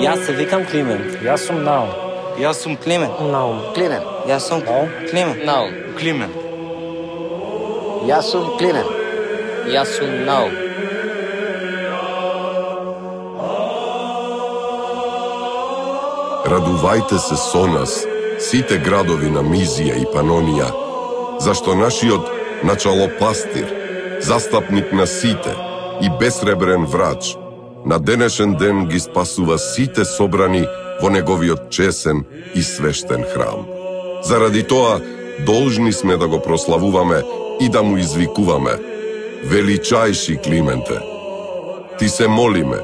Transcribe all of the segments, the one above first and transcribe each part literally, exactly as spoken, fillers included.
Јас се викам Климент. Јас сум Наум. Јас сум Климент. Наум. Климент. Јас сум Климент. Наум. Климент. Јас сум Климент. Јас сум Наум. Радувајте се со нас, сите градови на Мизија и Панонија, зашто нашиот началопастир, застапник на сите и безсребрен врач, на денешен ден ги спасува сите собрани во неговиот чесен и свештен храм. Заради тоа, должни сме да го прославуваме и да му извикуваме: величајши Клименте, ти се молиме,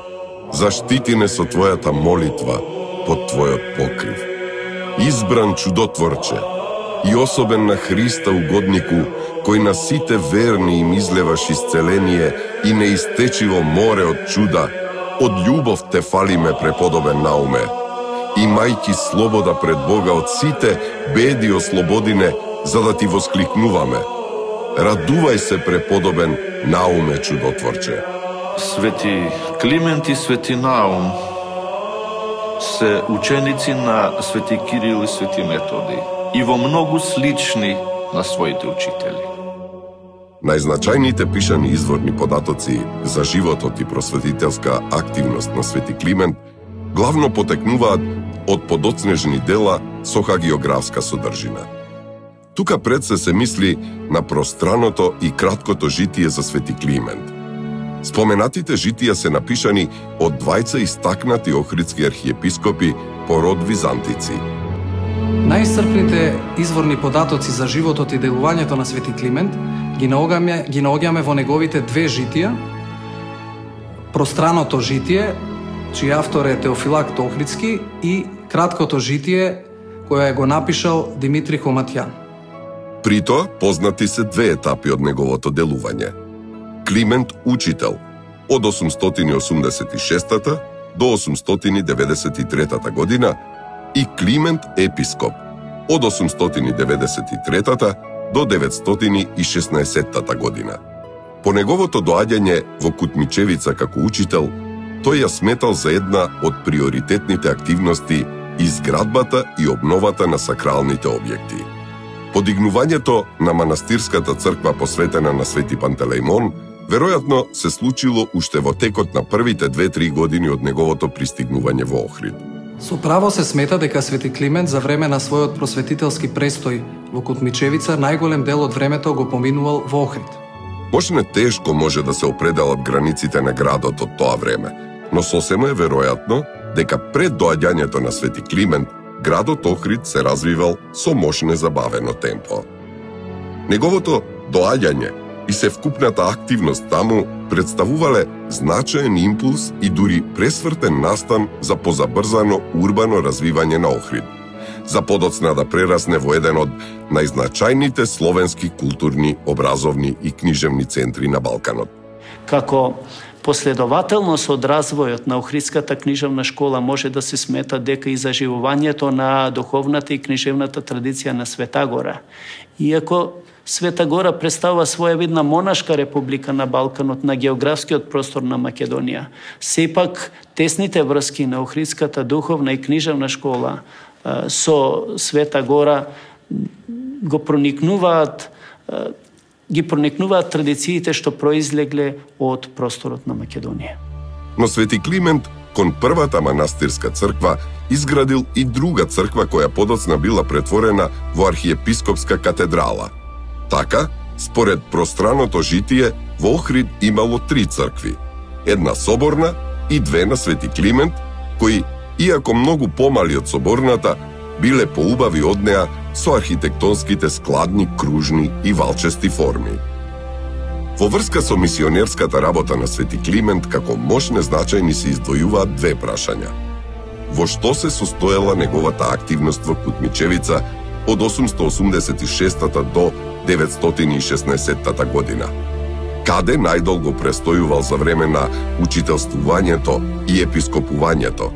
заштити не со твојата молитва под твојот покрив. Избран чудотворче и особен на Христа угоднику, кој на сите верни им излеваш исцеление и неистечиво море од чуда, од љубов те фалиме, преподобен Науме. Имајќи слобода пред Бога од сите беди ослободине, за да ти воскликнуваме: радувај се, преподобен Науме чудотворче. Свети Климент и Свети Наум се ученици на Свети Кирил и Свети Методи и во многу слични на своите учители. Најзначајните пишани изворни податоци за животот и просветителска активност на Свети Климент главно потекнуваат од подоцнежни дела со хагиографска содржина. Тука пред се се мисли на пространото и краткото житие за Свети Климент. Споменатите житија се напишани од двајца истакнати охридски архиепископи по род византици. Најисцрпните изворни податоци за животот и делувањето на Свети Климент ги наоѓаме, ги наоѓаме во неговите две житија: Пространото житие, чиј автор е Теофилакт Охридски, и краткото житие, која го напишал Димитри Хоматјан. При тоа познати се две етапи од неговото делување. Климент учител од осумстотини и осумдесет и шестата до осумстотини и деветдесет и третата година и Климент епископ од осумстотини и деветдесет и третата до деветстотини и шеснаесеттата година. По неговото доаѓање во Кутмичевица како учител, тој ја сметал за една од приоритетните активности изградбата и обновата на сакралните објекти. Подигнувањето на манастирската црква посветена на Свети Пантелеимон веројатно се случило уште во текот на првите две-три години од неговото пристигнување во Охрид. Со право се смета дека Свети Климент за време на својот просветителски престој во Кутмичевица најголем дел од времето го поминувал во Охрид. Можне тешко може да се определат границите на градот од тоа време, но сосема е веројатно дека пред доаѓањето на Свети Климент градот Охрид се развивал со мощне забавено темпо. Неговото доаѓање и севкупната активност таму представувале значаен импулс и дури пресвртен настан за позабрзано урбано развивање на Охрид, за подоцна да прерасне во еден од најзначајните словенски културни, образовни и книжевни центри на Балканот. Како последователност од развојот на Охридската книжевна школа може да се смета дека и заживувањето на духовната и книжевната традиција на Света Гора. Иако Света Гора представува своевидна монашка република на Балканот, на географскиот простор на Македонија, сепак тесните врски на Охридската духовна и книжевна школа со Света Гора го проникнуваат ги проникнуваат традициите што произлегле од просторот на Македонија. Но Свети Климент кон првата манастирска црква изградил и друга црква која подоцна била претворена во архиепископска катедрала. Така, според пространото житие, во Охрид имало три цркви. Една соборна и две на Свети Климент, кои, иако многу помали од соборната, биле поубави од неа со архитектонските складни, кружни и валчести форми. Во врска со мисионерската работа на Свети Климент, како мощне значајни се издвојуваат две прашања. Во што се состоела неговата активност во Кутмичевица од осумстотини осумдесет и шестата до деветстотини и шеснаесеттата година? Каде најдолго престојувал за време на учителствувањето и епископувањето?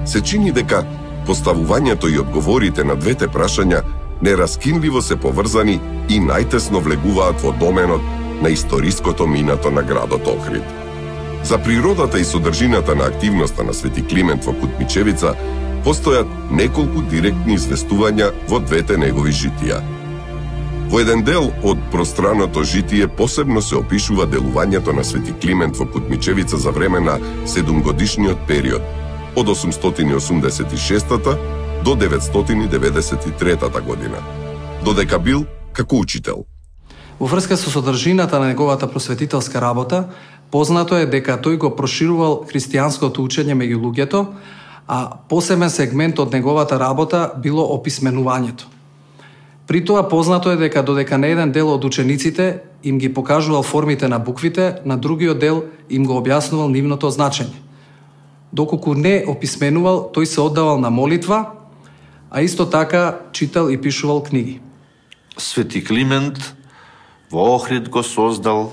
Се чини дека поставувањето и одговорите на двете прашања нераскинливо се поврзани и најтесно влегуваат во доменот на историското минато на градот Охрид. За природата и содржината на активноста на Свети Климент во Кутмичевица постојат неколку директни известувања во двете негови житија. Во еден дел од пространото житие посебно се опишува делувањето на Свети Климент во Кутмичевица за време на седумгодишниот период, од осумстотини осумдесет и шестата до деветстотини деветдесет и третата година, додека бил како учител. Во врска со содржината на неговата просветителска работа, познато е дека тој го проширувал христијанското учење меѓу луѓето, а посебен сегмент од неговата работа било описменувањето. При тоа познато е дека додека на еден дел од учениците им ги покажувал формите на буквите, на другиот дел им го објаснувал нивното значење. Доколку не описменувал, тој се оддавал на молитва, а исто така читал и пишувал книги. Свети Климент во Охрид го создал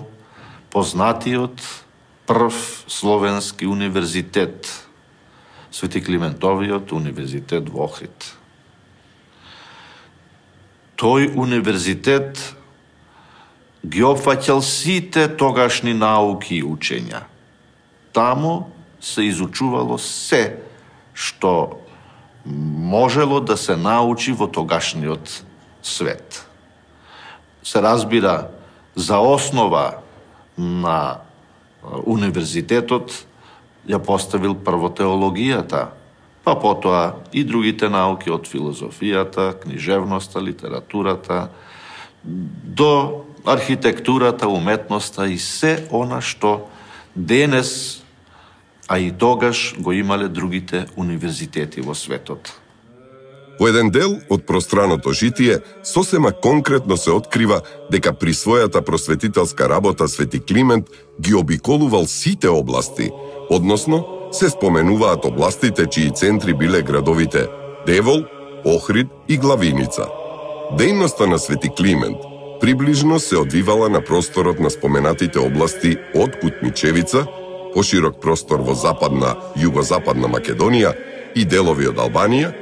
познатиот прв словенски универзитет, Свети Климентовиот универзитет во Охрид. Тој универзитет ги опфаќал сите тогашни науки и учења. Таму се изучувало се што можело да се научи во тогашниот свет. Се разбира, за основа на универзитетот ја поставил прво теологијата, па потоа и другите науки од филозофијата, книжевноста, литературата, до архитектурата, уметноста и се она што денес, а и тогаш го имале другите универзитети во светот. Во еден дел од пространото житие, сосема конкретно се открива дека при својата просветителска работа Свети Климент ги обиколувал сите области, односно се споменуваат областите чии центри биле градовите Девол, Охрид и Главиница. Дејноста на Свети Климент приближно се одвивала на просторот на споменатите области од Кутмичевица, поширок простор во западна, југозападна Македонија и делови од Албанија,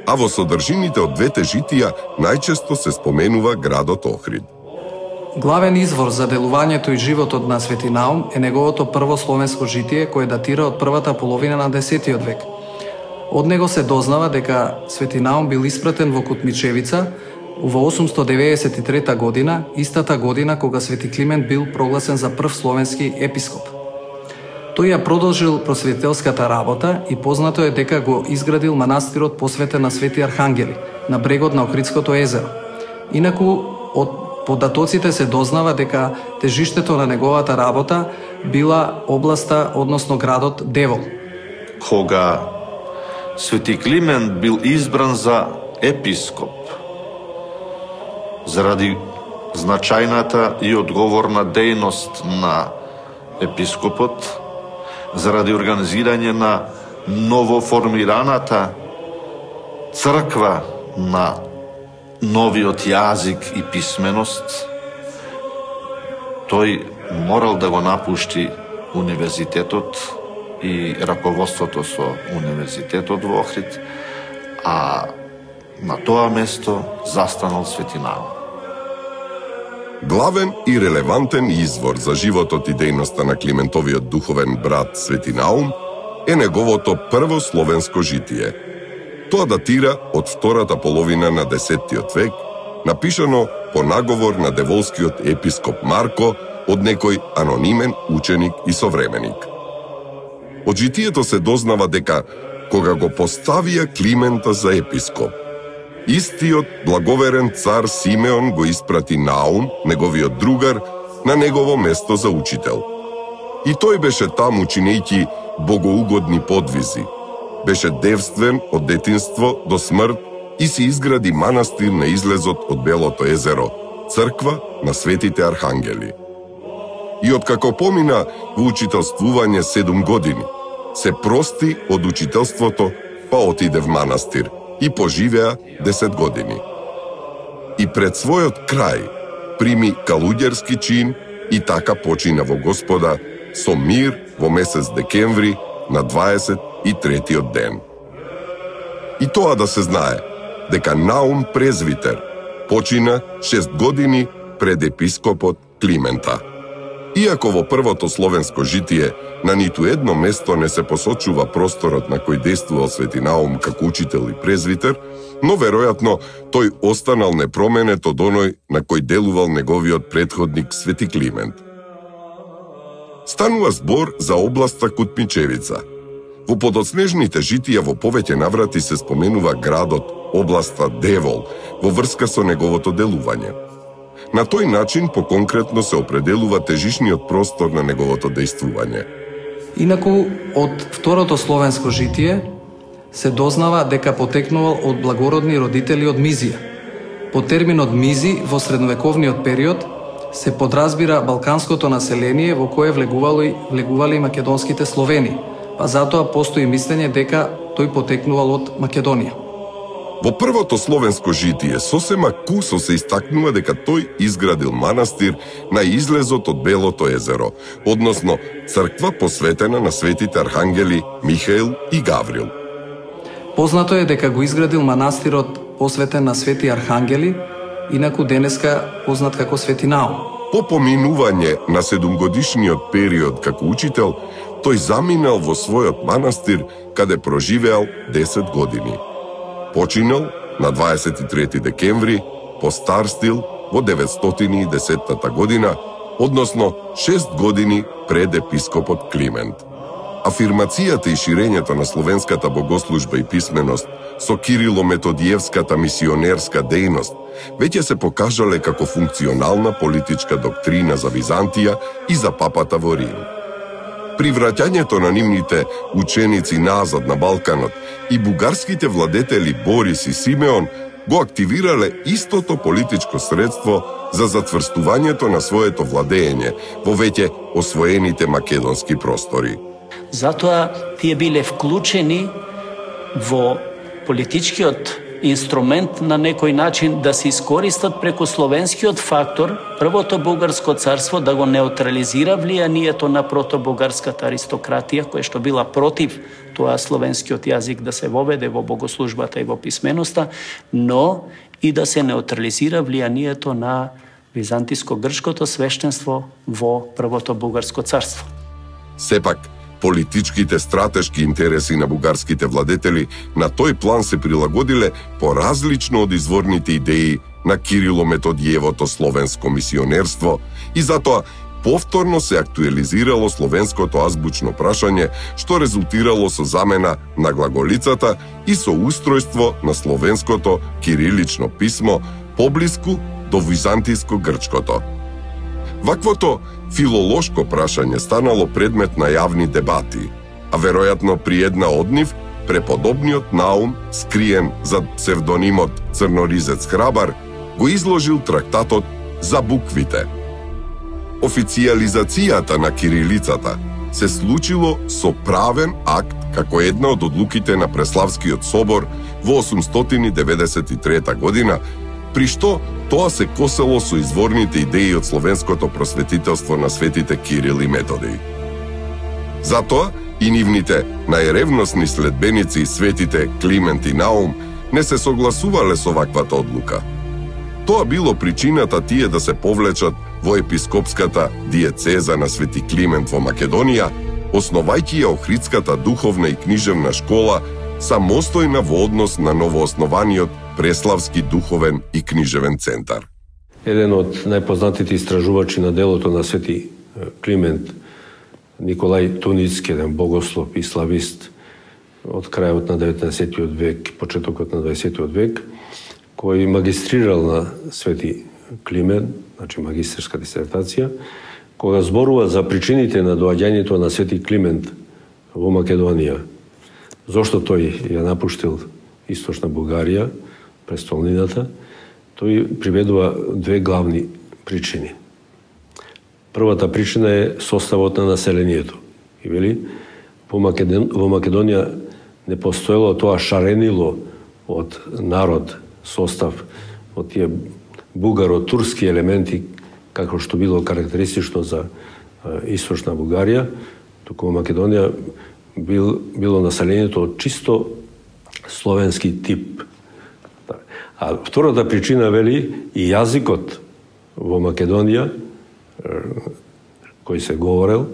а во содржините од двете житија најчесто се споменува градот Охрид. Главен извор за делувањето и животот на Свети Наум е неговото прво словенско житие кое датира од првата половина на десетиот век. Од него се дознава дека Свети Наум бил испратен во Кутмичевица во осумсто деветдесет и трета година, истата година кога Свети Климент бил прогласен за прв словенски епископ. Тој ја продолжил просветителската работа и познато е дека го изградил манастирот посветен на Свети Архангели на брегот на Охридското езеро. Инаку од податоците се дознава дека тежиштето на неговата работа била областа, односно градот Девол. Кога Свети Климент бил избран за епископ, заради значајната и одговорна дејност на епископот, заради организирање на новоформираната црква на новиот јазик и писменост, тој морал да го напушти универзитетот и раководството со универзитетот во Охрид, а на тоа место застанал Свети Наум. Главен и релевантен извор за животот и дејноста на Климентовиот духовен брат Свети Наум е неговото прво словенско житие. Тоа датира од втората половина на десеттиот век, напишано по наговор на деволскиот епископ Марко од некој анонимен ученик и современик. Од житието се дознава дека кога го поставија Климента за епископ, истиот благоверен цар Симеон го испрати Наум, неговиот другар, на негово место за учител. И тој беше таму чинејќи богоугодни подвизи. Беше девствен од детинство до смрт и се изгради манастир на излезот од Белото езеро, црква на Светите Архангели. И откако помина во учителствување седум години, се прости од учителството, па отиде в манастир и поживеа десет години. И пред својот крај прими калуѓерски чин и така почина во Господа со мир во месец декември на дваесет и третиот ден. И тоа да се знае, дека Наум презвитер почина шест години пред епископот Климента. Иако во првото словенско житие на ниту едно место не се посочува просторот на кој действувал Свети Наум како учител и презвитер, но веројатно тој останал непроменет од оној на кој делувал неговиот претходник Свети Климент. Станува збор за областа Кутмичевица. Во подоцнежните житија во повеќе наврати се споменува градот, областа Девол, во врска со неговото делување. На тој начин поконкретно се определува тежишниот простор на неговото дејствување. Инаку, од второто словенско житие се дознава дека потекнувал од благородни родители од Мизија. По терминот Мизи во средновековниот период се подразбира балканското население во кое влегували, влегували македонските словени, па затоа постои мислење дека тој потекнувал од Македонија. Во првото словенско житие сосема кусо се истакнува дека тој изградил манастир на излезот од Белото езеро, односно црква посветена на светите архангели Михаил и Гаврил. Познато е дека го изградил манастирот посветен на свети архангели, инаку денеска познат како Свети Наум. По поминување на седумгодишниот период како учител, тој заминал во својот манастир, каде проживеал десет години. Починал на дваесет и трети декември, по стар стил во деветстотини и десета година, односно шест години пред епископот Климент. Афирмацијата и ширењето на словенската богослужба и писменост со кирило-методиевската мисионерска дејност веќе се покажале како функционална политичка доктрина за Византија и за папата во Рим. При враќањето на нивните ученици назад на Балканот и бугарските владетели Борис и Симеон го активирале истото политичко средство за затврстувањето на своето владење во веќе освоените македонски простори. Затоа тие биле вклучени во политичкиот инструмент на некој начин да се искористат преку словенскиот фактор првото бугарско царство да го неутрализира влијанието на протобугарската аристократија, која што била против тоа словенскиот јазик да се воведе во богослужбата и во писменоста, но и да се неутрализира влијанието на византиско-грчкото свештенство во првото бугарско царство. Сепак, политичките стратешки интереси на бугарските владетели на тој план се прилагодиле поразлично од изворните идеи на Кирило-Методиевото словенско мисионерство и затоа повторно се актуализирало словенското азбучно прашање, што резултирало со замена на глаголицата и со устројство на словенското кирилично писмо поблиску до византиско-грчкото. Ваквото филолошко прашање станало предмет на јавни дебати, а веројатно при една од нив, преподобниот Наум, скриен зад псевдонимот Црноризец Храбар, го изложил трактатот за буквите. Официјализацијата на кирилицата се случило со правен акт како една од одлуките на Преславскиот собор во осумстотини деветдесет и трета година, при што тоа се косело со изворните идеи од словенското просветителство на светите Кирил и Методий. Затоа и нивните најревносни следбеници, светите Климент и Наум, не се согласувале со ваквата одлука. Тоа било причината тие да се повлечат во епископската диецеза на Свети Климент во Македонија, основајќи ја Охридската духовна и книжевна школа самостојна во однос на новооснованиот Преславски духовен и книжевен центар. Еден од најпознатите истражувачи на делото на Свети Климент, Николај Туницки, еден богослов и славист од крајот на деветнаесеттиот век, почетокот на дваесеттиот век, кој магистрирал на Свети Климент, значи магистерска дисертација, кога зборува за причините на доаѓањето на Свети Климент во Македонија. Зошто тој ја напуштил Источна Бугарија, престолнината, тој приведува две главни причини. Првата причина е составот на населението. И вели, во, Македон, во Македонија не постоело тоа шаренило од народ, состав, од тие бугаро-турски елементи, како што било карактеристично за Источна Бугарија, туку во Македонија бил, било населението од чисто словенски тип. А втората причина, вели, и јазикот во Македонија, кој се говорел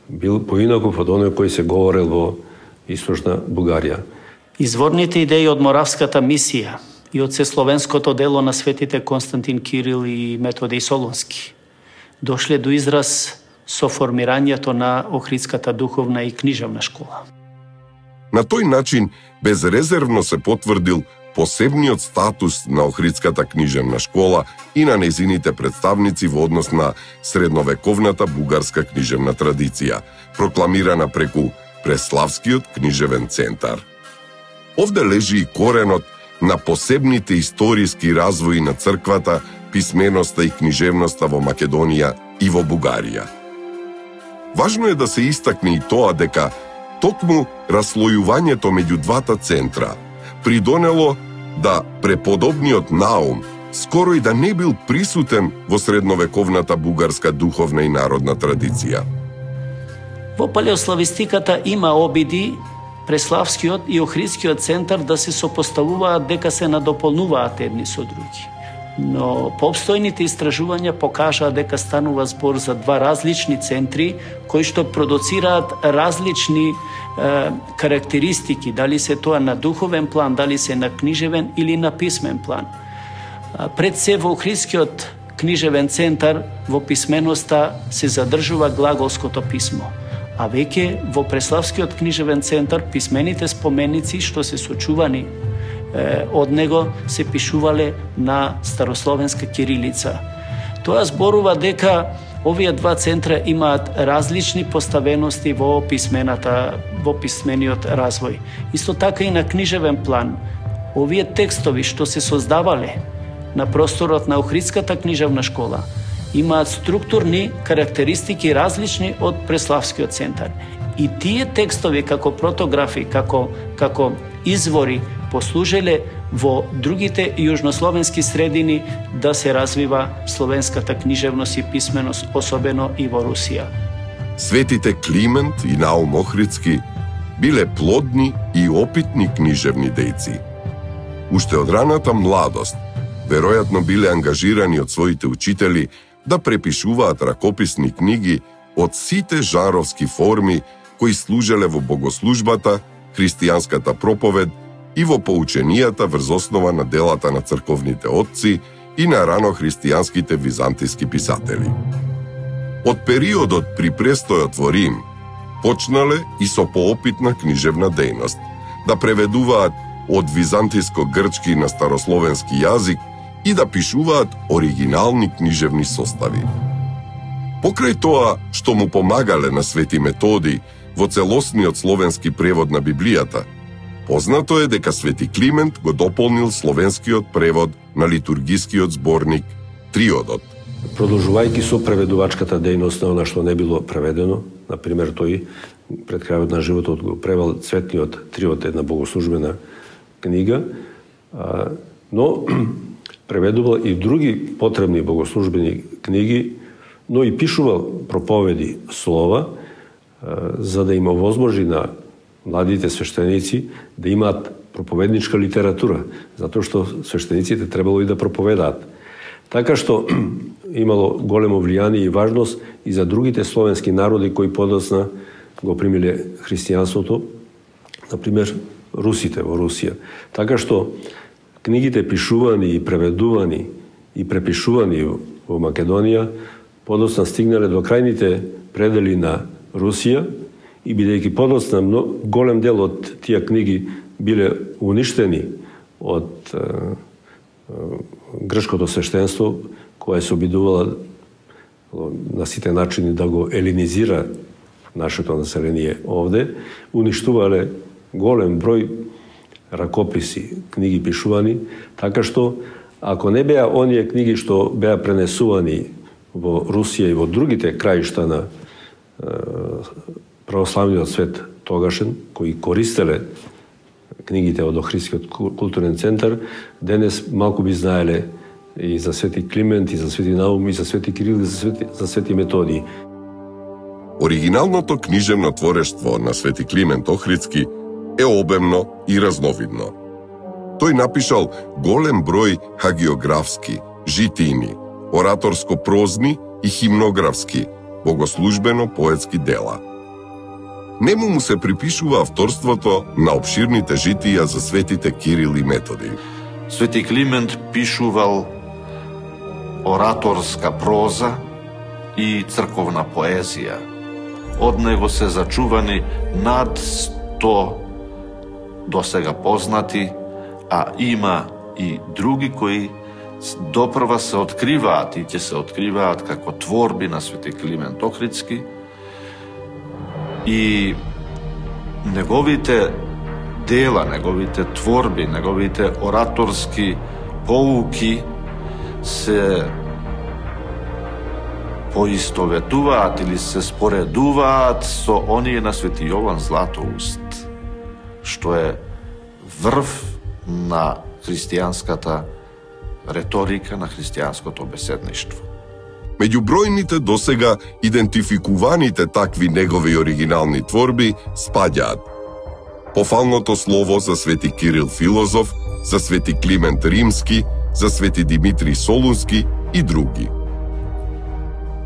бил поинаков од оној кој се говорел во Источна Бугарија. Изворните идеи од Моравската мисија и од сесловенското дело на светите Константин Кирил и Методиј Солунски дошле до израз со формирањето на Охридската духовна и книжевна школа. На тој начин безрезервно се потврдил посебниот статус на Охридската книжевна школа и на незините представници во однос на средновековната бугарска книжевна традиција, прокламирана преку Преславскиот книжевен центар. Овде лежи и коренот на посебните историски развои на црквата, писменоста и книжевноста во Македонија и во Бугарија. Важно е да се истакне и тоа дека токму раслојувањето меѓу двата центра придонело да преподобниот Наум скоро и да не бил присутен во средновековната бугарска духовна и народна традиција. Во палеославистиката има обиди Преславскиот и Охридскиот центар да се сопоставуваат дека се надополнуваат едни со други. Но пообстојните истражувања покажаа дека станува збор за два различни центри кои што продуцираат различни е, карактеристики, дали се тоа на духовен план, дали се на книжевен или на писмен план. Пред се во Охридскиот книжевен центар во писменоста се задржува глаголското писмо, а веќе во Преславскиот книжевен центар писмените споменици што се сочувани е, од него се пишувале на старословенска кирилица. Тоа зборува дека овие два центра имаат различни поставености во писмената, во писмениот развој. Исто така и на книжевен план. Овие текстови што се создавале на просторот на Охридската книжевна школа имаат структурни карактеристики различни од Преславскиот центар. И тие текстови како протографи, како, како извори послужеле во другите јужнословенски средини да се развива словенската книжевност и писменост, особено и во Русија. Светите Климент и Наум Охридски биле плодни и опитни книжевни дејци. Уште од раната младост, веројатно биле ангажирани од своите учители да препишуваат ракописни книги од сите жанровски форми кои служеле во богослужбата, христијанската проповед и во поученијата врз основа на делата на црковните отци и на рано христијанските византиски писатели. Од периодот при престојот во Рим почнале и со поопитна книжевна дејност, да преведуваат од византиско-грчки на старословенски јазик и да пишуваат оригинални книжевни состави. Покрај тоа што му помагале на Свети Методиј во целосниот словенски превод на Библијата, познато е дека Свети Климент го дополнил словенскиот превод на литургискиот зборник Триодот. Продолжувајќи со преведувачката дејност на она што не било преведено, например тој пред крајот на животот го превел Цветниот Триод, една богослужбена книга, но преведувал и други потребни богослужбени книги, но и пишувал проповеди слова, за да им овозможи на младите свештеници да имаат проповедничка литература, затоа што свештениците требало и да проповедаат. Така што имало големо влијание и важност и за другите словенски народи кои подоцна го примиле христијанството, например русите во Русија. Така што книгите пишувани и преведувани и препишувани во Македонија подоцна стигнале до крајните предели на Русија и бидејќи подоцна голем дел од тие книги биле уништени од е, е, грчкото свештенство, кое се обидувало на сите начини да го елинизира нашето население овде, уништувале голем број ракописи, книги пишувани, така што ако не беа оние книги што беа пренесувани во Русија и во другите краишта на е, православниот свет тогашен, кои користеле книгите од Охридскиот културен центар, денес малку би знаеле и за Свети Климент, и за Свети Наум, и за Свети Кирил, и за Свети, за Свети Методиј. Оригиналното книжевно творештво на Свети Климент Охридски е обемно и разновидно. Тој напишал голем број хагиографски, житини, ораторско-прозни и химнографски, богослужбено-поетски дела. Нему му се припишува авторството на обширните житија за светите Кирил и Методи. Свети Климент пишувал ораторска проза и црковна поезија. Од него се зачувани над сто досега познати, а има и други кои допрва се откриваат и ќе се откриваат како творби на Свети Климент Охридски. И неговите дела, неговите творби, неговите ораторски поуки се поистоветуваат или се споредуваат со оние на Свети Јован Златоуст, што е врв на христијанската реторика, на христијанското беседништво. Меѓу бројните досега идентификуваните такви негови оригинални творби спаѓаат Пофалното слово за Свети Кирил Филозоф, за Свети Климент Римски, за Свети Димитрий Солунски и други.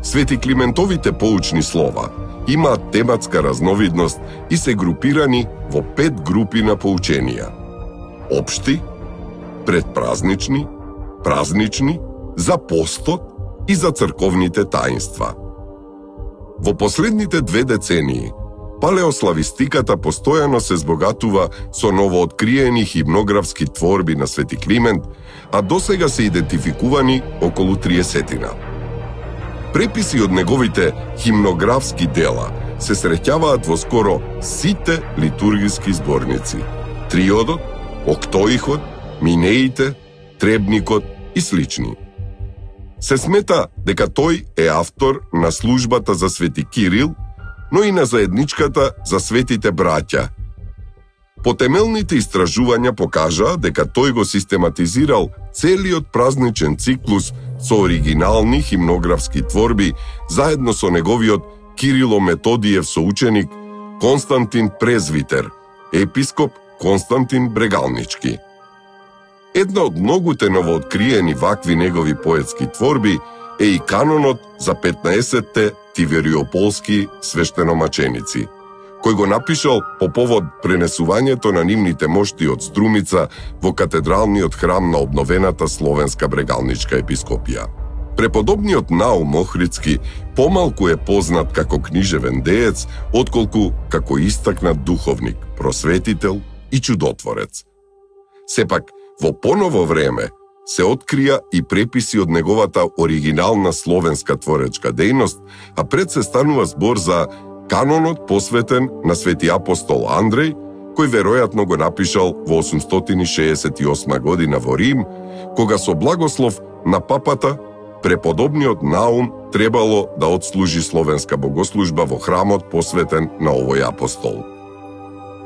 Свети Климентовите поучни слова имаат тематска разновидност и се групирани во пет групи на поученија: општи, предпразнични, празнични, за постот и за црковните таинства. Во последните две децении, палеославистиката постојано се збогатува со новооткриени химнографски творби на Свети Климент, а досега се идентификувани околу триесетина. Преписи од неговите химнографски дела се среќаваат во скоро сите литургиски зборници: Триодот, Октоихот, Минеите, Требникот и слични. Се смета дека тој е автор на службата за Свети Кирил, но и на заедничката за светите браќа. Потемелните истражувања покажаа дека тој го систематизирал целиот празничен циклус со оригинални химнографски творби заедно со неговиот Кирило-Методиев соученик Константин Презвитер, епископ Константин Брегалнички. Една од многуте новооткриени вакви негови поетски творби е и канонот за петнаесетте тивериополски свештеномаченици, кој го напишал по повод пренесувањето на нивните мошти од Струмица во катедралниот храм на обновената Словенска Брегалничка епископија. Преподобниот Наум Охридски помалку е познат како книжевен деец, отколку како истакнат духовник, просветител и чудотворец. Сепак, во поново време се открија и преписи од неговата оригинална словенска творечка дејност, а пред се станува збор за канонот посветен на Свети апостол Андреј, кој веројатно го напишал во осумстотини шеесет и осма година во Рим, кога со благослов на папата преподобниот Наум требало да отслужи словенска богослужба во храмот посветен на овој апостол.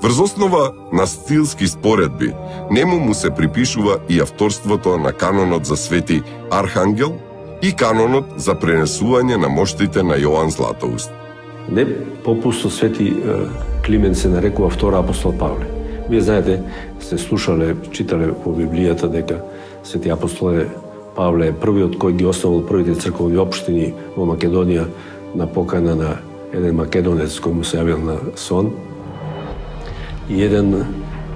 Врз основа на стилски споредби, нему му се припишува и авторството на канонот за Свети Архангел и канонот за пренесување на моштите на Јован Златоуст. Не попусто Свети Климент се нарекува втора апостол Павле. Вие знаете, сте слушале, читале во Библијата дека Свети апостол Павле е првиот кој ги основал првите црковни општини во Македонија на покана на еден македонец кој му се јавил на сон. И еден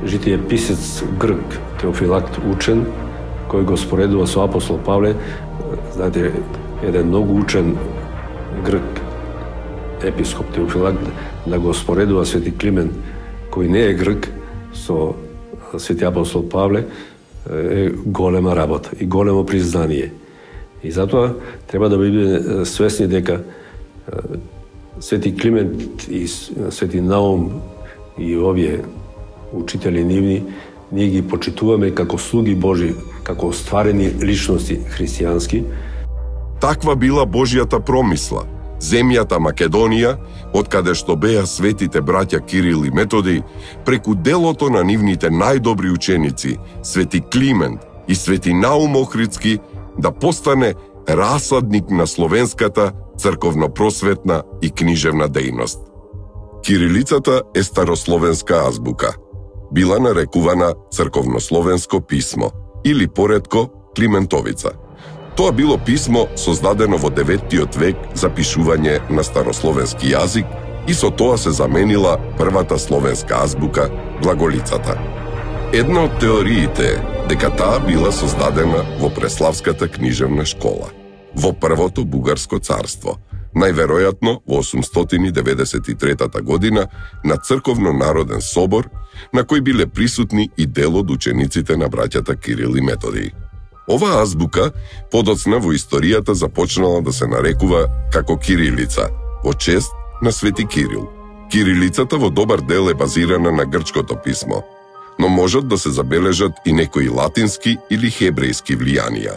житие писец грк, Теофилакт учен, кој го споредува со апостол Павле. Знаете, еден многу учен грк епископ Теофилакт да го споредува Свети Климент, кој не е грк, со Свети апостол Павле, е голема работа и големо признание. И затоа треба да бидеме свесни дека Свети Климент и Свети Наум и овие учители нивни, ние ги почитуваме како слуги Божи, како остварени личности христијански. Таква била Божјата промисла. Земјата Македонија, од каде што беа светите браќа Кирил и Методи, преку делото на нивните најдобри ученици, Свети Климент и Свети Наум Охридски, да постане расадник на словенската црковно-просветна и книжевна дејност. Кирилицата е старословенска азбука. Била нарекувана црковнословенско писмо или поредко Климентовица. Тоа било писмо создадено во деветиот век за пишување на старословенски јазик и со тоа се заменила првата словенска азбука, глаголицата. Една од теориите е дека таа била создадена во Преславската книжевна школа, во првото бугарско царство, најверојатно во осумстотини деветдесет и трета година на црковно-народен собор, на кој биле присутни и дел од учениците на браќата Кирил и Методий. Оваа азбука подоцна во историјата започнала да се нарекува како кирилица, во чест на Свети Кирил. Кирилицата во добар дел е базирана на грчкото писмо, но можат да се забележат и некои латински или хебрејски влијанија.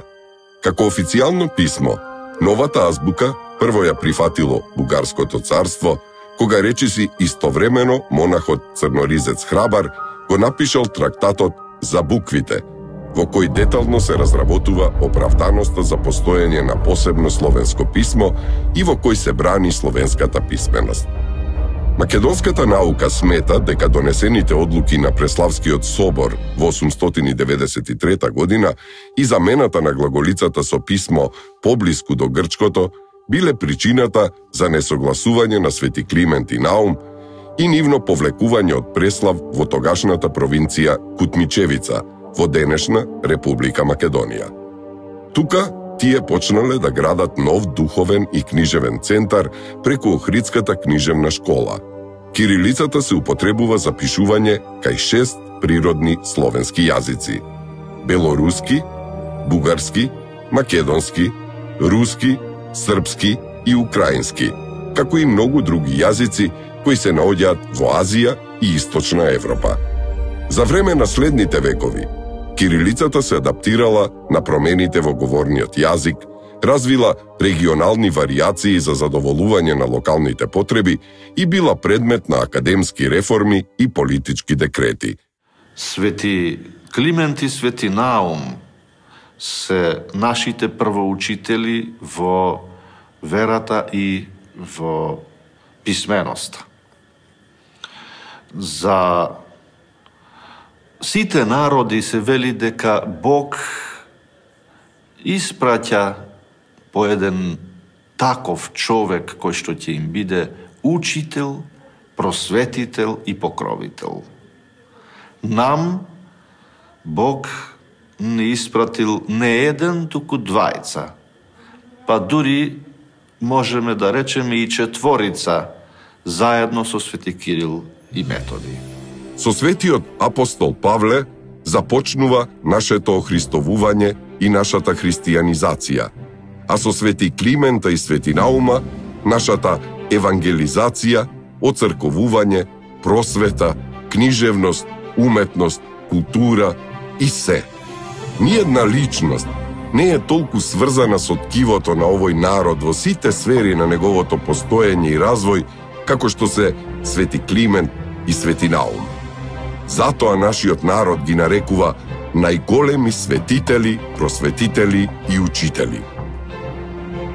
Како официјално писмо, новата азбука прво ја прифатило Бугарското царство, кога речиси истовремено монахот Црноризец Храбар го напишал трактатот за буквите, во кој детално се разработува оправданоста за постоење на посебно словенско писмо и во кој се брани словенската писменост. Македонската наука смета дека донесените одлуки на Преславскиот собор во осумстотини деветдесет и трета година и замената на глаголицата со писмо поблиску до грчкото биле причината за несогласување на Свети Климент и Наум и нивно повлекување од Преслав во тогашната провинција Кутмичевица, во денешна Република Македонија. Тука тие почнале да градат нов духовен и книжевен центар преку Охридската книжевна школа. Кирилицата се употребува за пишување кај шест природни словенски јазици: белоруски, бугарски, македонски, руски, српски и украински, како и многу други јазици кои се наоѓаат во Азија и Источна Европа. За време на следните векови, кирилицата се адаптирала на промените во говорниот јазик, развила регионални варијации за задоволување на локалните потреби и била предмет на академски реформи и политички декрети. Свети Климент и Свети Наум се нашите првоучители во верата и во писменоста. За сите народи се вели дека Бог испраќа по еден таков човек кој што ќе им биде учител, просветител и покровител. Нам Бог не испратил не еден, туку двајца, па дури можеме да речеме и четворица, заедно со Свети Кирил и Методий. Со светиот апостол Павле започнува нашето охристовување и нашата христијанизација, а со Свети Климента и Свети Наума нашата евангелизација, оцрковување, просвета, книжевност, уметност, култура и се. Ниедна личност не е толку сврзана со ткивото на овој народ во сите сфери на неговото постоење и развој, како што се Свети Климент и Свети Наум. Затоа нашиот народ ги нарекува најголеми светители, просветители и учители.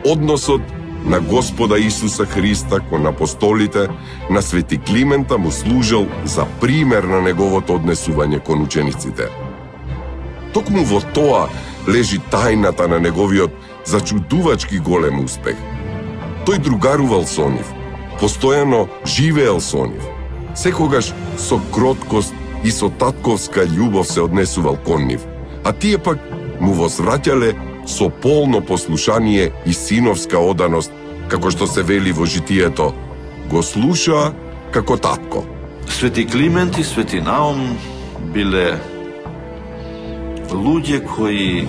Односот на Господа Исуса Христа кон апостолите на Свети Климента му служел за пример на неговото однесување кон учениците. Токму во тоа лежи тајната на неговиот зачудувачки голем успех. Тој другарувал со нив, постојано живеел со нив, секогаш со кроткост и со татковска љубов се однесувал кон нив, а тие пак му возвраќале со полно послушание и синовска оданост, како што се вели во житието, го слушаа како татко. Свети Климент и Свети Наум биле луѓе кои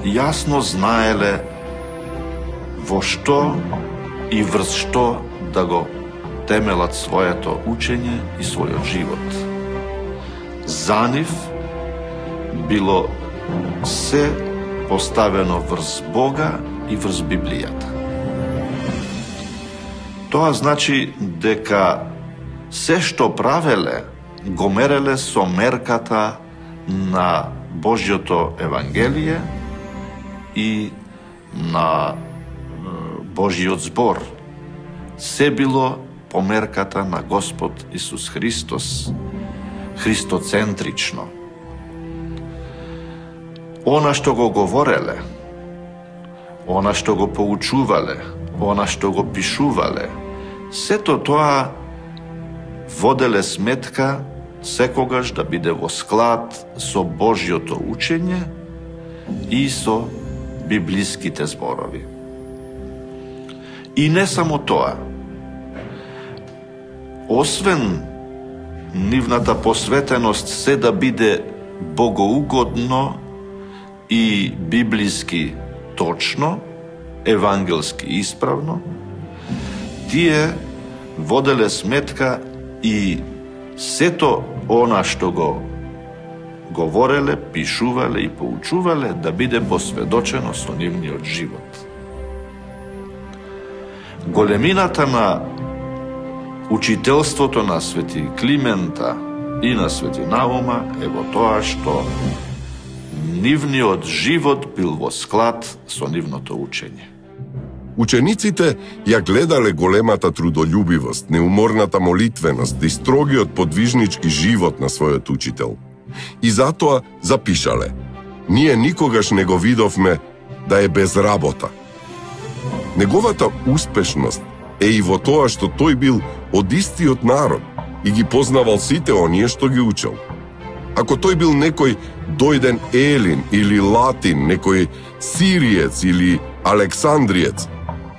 јасно знаеле во што и врз што да го темелат своето учење и својот живот. За нив било се поставено врз Бога и врз Библијата. Тоа значи дека се што правеле, го мереле со мерката на Божјото Евангелие и на Божјиот збор. Се било по мерката на Господ Исус Христос, христоцентрично. Она што го говореле, она што го поучувале, она што го пишувале, сето тоа воделе сметка секогаш да биде во склад со Божјото учење и со библиските зборови. И не само тоа. Освен нивната посветеност се да биде богоугодно и библиски точно, евангелски исправно, тие воделе сметка и сето она што го говореле, пишувале и поучувале да биде посведочено со нивниот живот. Големината на учителството на свети Климента и на свети Наума е во тоа што нивниот живот бил во склад со нивното учење. Учениците ја гледале големата трудолюбивост, неуморната молитвеност и строгиот подвижнички живот на својот учител. И затоа запишале: ние никогаш не го видовме да е без работа. Неговата успешност е и во тоа што тој бил од истиот народ и ги познавал сите оние што ги учел. Ако тој бил некој дојден Елин или Латин, некој Сириец или Александриец,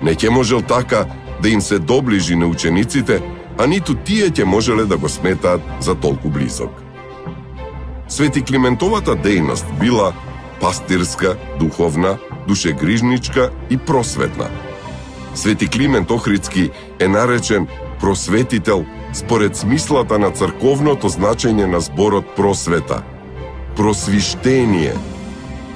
не ќе можел така да им се доближи на учениците, а ниту тие ќе можеле да го сметаат за толку близок. Свети Климентовата дејност била пастирска, духовна, душегрижничка и просветна. Свети Климент Охридски е наречен просветител според смислата на црковното значење на зборот просвета, просвиштение,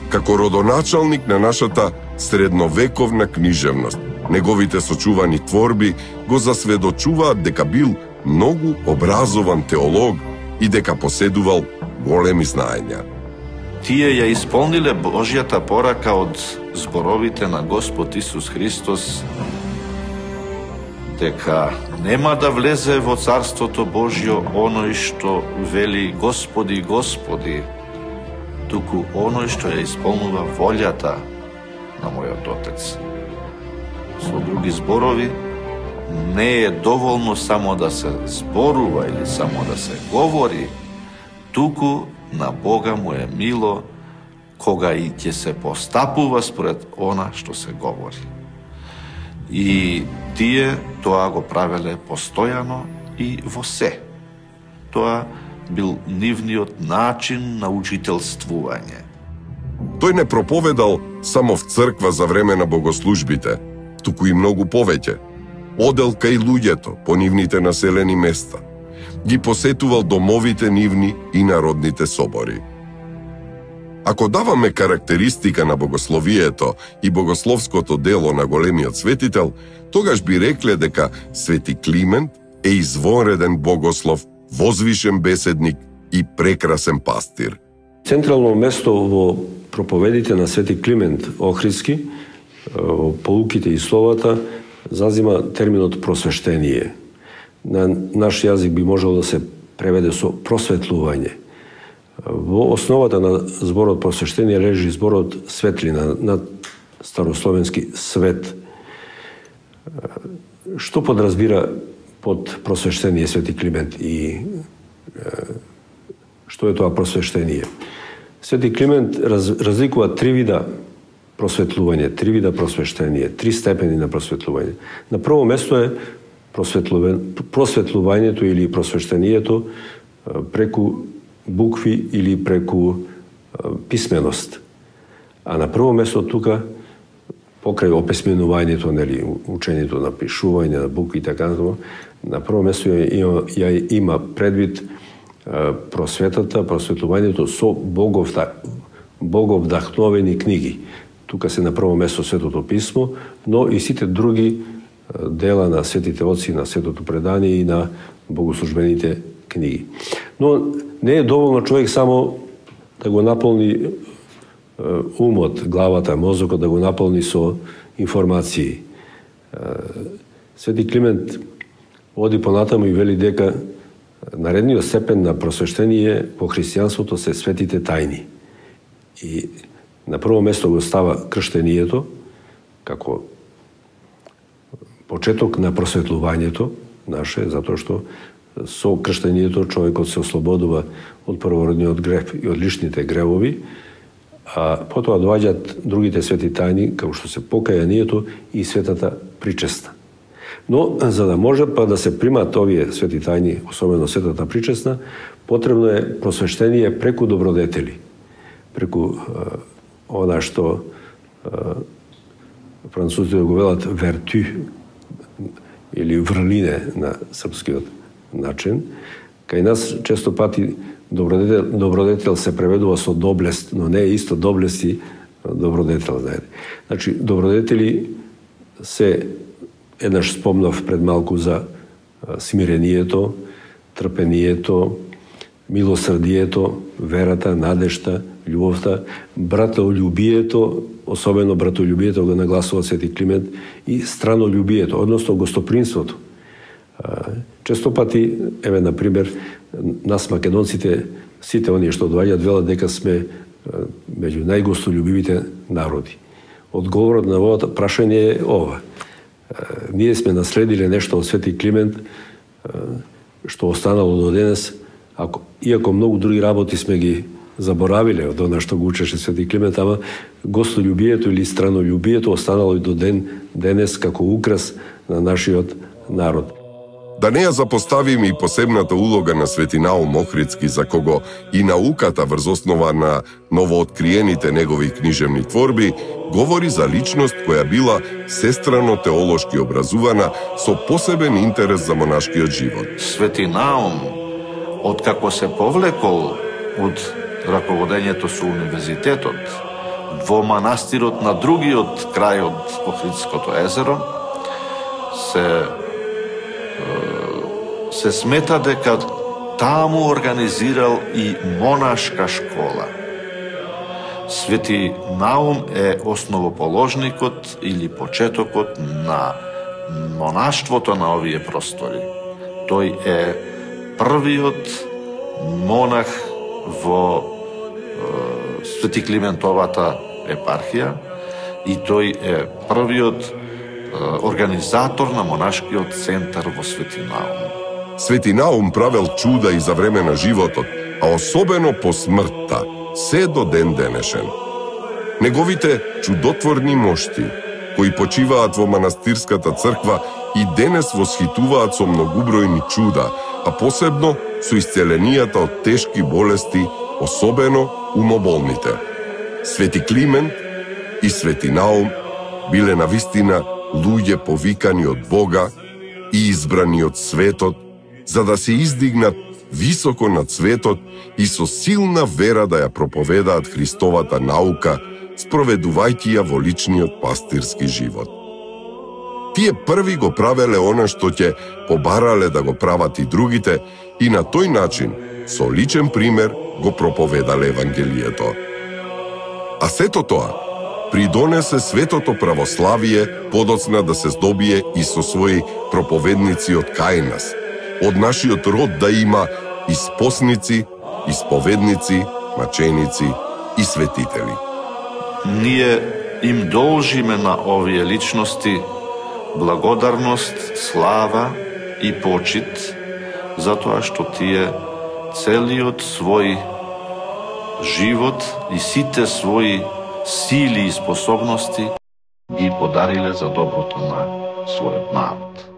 како родоначалник на нашата средновековна книжевност. Неговите сочувани творби го засведочуваат дека бил многу образован теолог и дека поседувал големи знаења. Тие ја исполниле Божјата порака од зборовите на Господ Исус Христос дека нема да влезе во Царството Божјо оној што вели Господи, Господи, туку оној што ја исполнува волјата на мојот Отец. Со други зборови, не е доволно само да се зборува или само да се говори, туку на Бога му е мило кога и ќе се постапува според она што се говори. И тие тоа го правеле постојано и во се. Тоа бил нивниот начин на учителствување. Тој не проповедал само в црква за време на богослужбите, туку и многу повеќе. Одел кај луѓето по нивните населени места. Ги посетувал домовите нивни и народните собори. Ако даваме карактеристика на богословието и богословското дело на големиот светител, тогаш би рекле дека Свети Климент е извонреден богослов, возвишен беседник и прекрасен пастир. Централно место во проповедите на Свети Климент Охридски, во поуките и словата, зазима терминот просвештение. На наш јазик би можело да се преведе со просветлување. Во основата на зборот просвештение лежи зборот светлина, на старословенски свет. Што подразбира под просвештение Свети Климент и што е тоа просвештение? Свети Климент раз, разликува три вида просветлување, три вида просвештение, три степени на просветлување. На прво место е просветлувањето или просвештението преку букви или преку писменост. А на прво место тука, покрај описменувањето, нели, учењето на пишување, на букви и така натаму, на прво место ја, ја има предвид просветата, просветлувањето со боговда, боговдахновени книги. Тука се на прво место Светото писмо, но и сите други дела на светите отци, на Светото предание и на богослужбените книги. Но не е доволно човек само да го наполни умот, главата, мозокот, да го наполни со информации. Свети Климент оди понатаму и вели дека наредниот степен на просвештение во христијанството се светите тајни. И на прво место го става крштението, како почеток на просветлувањето наше, затоа што со крштењето човекот се ослободува од првородниот грев и од личните гревови, а потоа доаѓаат другите свети тајни, како што се покајанието и светата причеста. Но, за да може па да се примат овие свети тајни, особено светата причесна, потребно е просвештение преку добродетели, преку е, она што е, французите го велат верту, или врлине на српскиот начин. Кај нас често пати добродетел, добродетел се преведува со доблест, но не е исто доблест и добродетел, знаете. Значи, добродетели се, еднаш спомнав пред малку за смирението, трпението, милосрдието, верата, надежта, љубовта, братолюбието, особено братолюбието го нагласува Свети Климент, и странолюбието, односно гостопримството. Често пати, еве, например, нас македонците, сите оние што доаѓаат, велат дека сме меѓу најгостолюбивите народи. Одговорот на овото прашање е ова. Ние сме наследиле нешто од Свети Климент, што останало до денес, ако, иако многу други работи сме ги заборавиле од она што го учеше Свети Климент, ама гостолюбието или странолюбието останало и до ден денес како украс на нашиот народ. Да не ја запоставиме и посебната улога на Свети Наум Охридски, за кого и науката врз основа на новооткриените негови книжевни творби говори за личност која била сестрано теолошки образувана со посебен интерес за монашкиот живот. Свети Наум, откако се повлекол од раководењето со универзитетот во манастирот на другиот крај од Охридското езеро, се се смета дека таму организирал и монашка школа. Свети Наум е основоположникот или почетокот на монаштвото на овие простори. Тој е првиот монах во е, Свети Климентовата епархија и тој е првиот е, организатор на монашкиот центар во Свети Наум. Свети Наум правел чуда и за време на животот, а особено по смртта, се до ден денешен. Неговите чудотворни мошти, кои почиваат во манастирската црква, и денес восхитуваат со многубројни чуда, а посебно со исцеленијата од тешки болести, особено умоболните. Свети Климент и Свети Наум биле навистина луѓе повикани од Бога и избрани од светот, за да се издигнат високо над светот и со силна вера да ја проповедаат Христовата наука, спроведувајќи ја во личниот пастирски живот. Тие први го правеле она што ќе побарале да го прават и другите, и на тој начин, со личен пример, го проповедале Евангелието. А сето тоа придонесе светото православие подоцна да се здобие и со своји проповедници од кај нас. Од нашиот род да има испосници, исповедници, маченици и светители. Ние им должиме на овие личности благодарност, слава и почит, затоа што тие целиот свој живот и сите своји сили и способности ги подариле за доброто на својот народ.